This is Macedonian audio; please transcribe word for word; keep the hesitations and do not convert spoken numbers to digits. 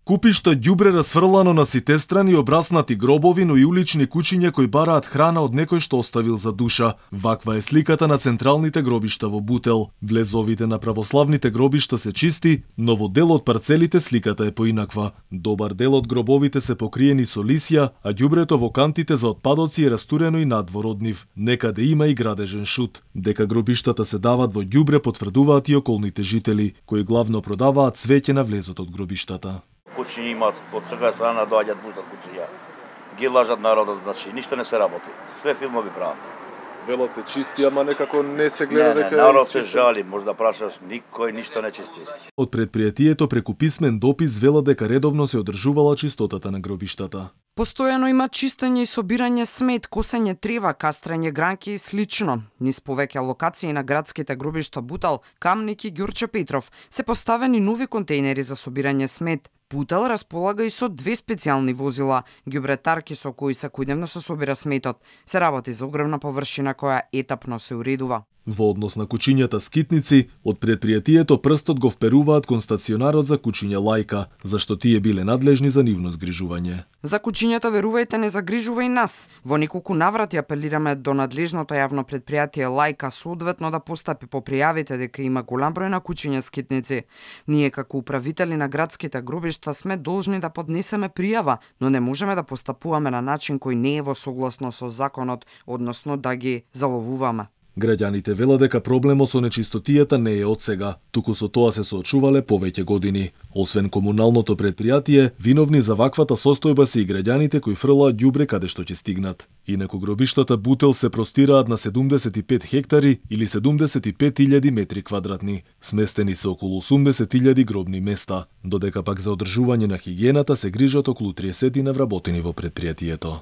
Купишта ѓубре расфрлано на сите страни, обраснати гробови, но и улични кучиња кои бараат храна од некој што оставил за душа. Ваква е сликата на централните гробишта во Бутел. Влезовите на православните гробишта се чисти, но во дел од парцелите сликата е поинаква. Добар дел од гробовите се покриени со лисја, а ѓубрето во кантите за отпадоци е растурено и надвор од нив. Некаде има и градежен шут. Дека гробиштата се дават во ѓубре потврдуваат и околните жители, кои главно продаваат цвеќе на влезот од гробиштата. Кучиња имаат од секоја страна доаѓаат пуштат кучиња. Ги лажат народот, значи ништо не се работи. Све филмови прават. Велат се чисти, ама некако не се гледа не, не, дека народ се жали, може да прашаш, никој ништо не чисти. Од предпријатието преку писмен допис вела дека редовно се одржувала чистотата на гробиштата. Постојано има чистење и собирање смет, косење трева, кастрење гранки и слично. Низ повеќе локации на градските гробишта Бутел, Камник и Ѓурче Петров се поставени нови контејнери за собирање смет. Бутел располага и со две специјални возила, ѓубретарки со кои секојдневно се собира сметот. Се работи за огромна површина која етапно се уредува. Во однос на кучињата скитници, од предпријатието прстот го вперуваат кон стационарот за кучиња Лајка, зашто тие биле надлежни за нивно згрижување. За кучињата, верувајте, не загрижува и нас. Во неколку наврати апелираме до надлежното јавно предпријатие Лајка соодветно да постапи по пријавите дека има голем број на кучиња скитници. Ние како управители на градските гробишта сме должни да поднесеме пријава, но не можеме да постапуваме на начин кој не е во согласно со законот, односно да ги заловуваме. Граѓаните велат дека проблемот со нечистотијата не е од сега, туку со тоа се соочувале повеќе години. Освен комуналното предпријатие, виновни за ваквата состојба се и граѓаните кои фрлаат ѓубре каде што ќе стигнат. Инаку гробиштата Бутел се простираат на седумдесет и пет хектари или седумдесет и пет илјади метри квадратни. Сместени се околу осумдесет илјади гробни места, додека пак за одржување на хигиената се грижат околу триесет навработени во предпријатието.